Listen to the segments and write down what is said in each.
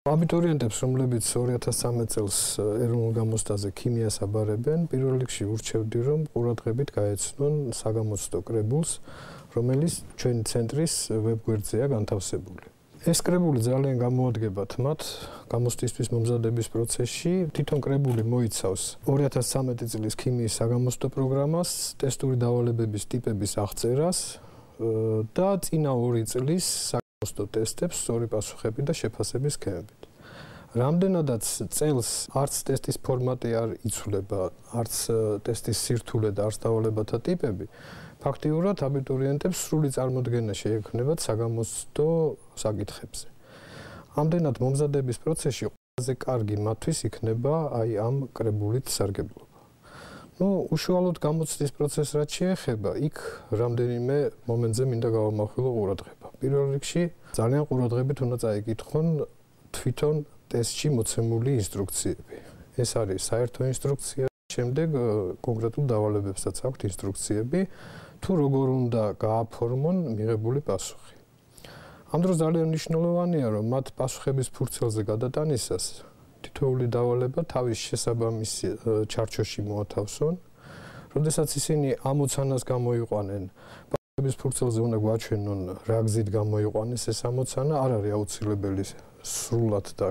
აბიტურიენტებს, რომლებიც 2013 წელს ეროვნულ გამოცდაზე ქიმიას აბარებენ, პირველ რიგში ურჩევდი, რომ ყურადღებით გაეცნონ საგამოცდო კრებულს, რომელიც ჩვენი ცენტრის ვებგვერდზეა განთავსებული. ეს კრებული ძალიან გამოადგებათ მათ გამოცდისთვის მომზადების პროცესში. თვითონ კრებული მოიცავს 2013 წლის ქიმიის საგამოცდო პროგრამას, ტესტური დავალებების ტიპების აღწერას და წინა 2 წლის საგამოცდო ტესტებს, სწორი პასუხები და შეფასების სქემებით. რამდენადაც წელს არც ტესტის ფორმატი არ იცვლება, არც ტესტის სირთულე და არც დავალებათა ტიპები, ფაქტიურად აბიტურიენტებს სრული წარმოდგენა შეექმნებათ საგამოცდო საკითხებზე. ამდენად მომზადების პროცესში ყველაზე კარგი მათთვის იქნება ამ კრებულით სარგებლობა. უშუალოდ გამოცდის პროცესს რაც შეეხება, იქ რამდენიმე მომენტზე მინდა გავამახვილო ყურადღება. პირველ რიგში ძალიან ყურადღებით უნდა წაიკითხონ თვითონ ტესტში მოცემული ინსტრუქციები. ეს არის საერთო ინსტრუქცია, შემდეგ კონკრეტულ დავალებებსაც აქვთ ინსტრუქციები, თუ როგორ უნდა გააფორმონ მიღებული პასუხი. ამ დროს ძალიან მნიშვნელოვანია, რომ მათ პასუხების ფურცელზე გადატანისას თითოეული დავალება თავის შესაბამის ჩარჩოში მოათავსონ. როდესაც ისინი ამოცანას გამოიყვანენ, პასუხების ფურცელზე უნდა გვაჩვენონ, რა გზით გამოიყვანეს ეს ამოცანა, არ არის აუცილებელი სრულად და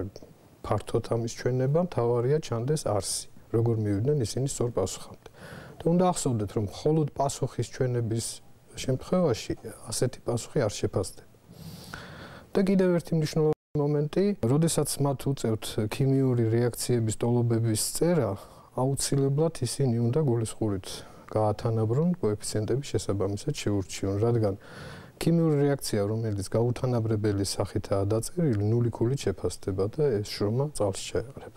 ფართოდ ამის ჩვენება, მთავარია ჩანდეს არსი, როგორ მივიდნენ ისინი სწორ პასუხამდე. და უნდა ახსოვდეთ, რომ მხოლოდ პასუხის ჩვენების შემთხვევაში ასეთი პასუხი არ შეფასდება. და კიდევ ერთი მნიშვნელოვანი მომენტი, როდესაც მათ უწევთ ქიმიური რეაქციების ტოლობების წერა, აუცილებლად ისინი უნდა გულისხმობით გაათანაბრონ კოეფიციენტების შესაბამისად შეურჩიონ, რადგან ქიმიური რეაქცია, რომელიც გაუთანაბრებელი სახითაა დაწერილი, 0 ქულით შეფასდება და ეს შრომა წალს ჩაეყრება.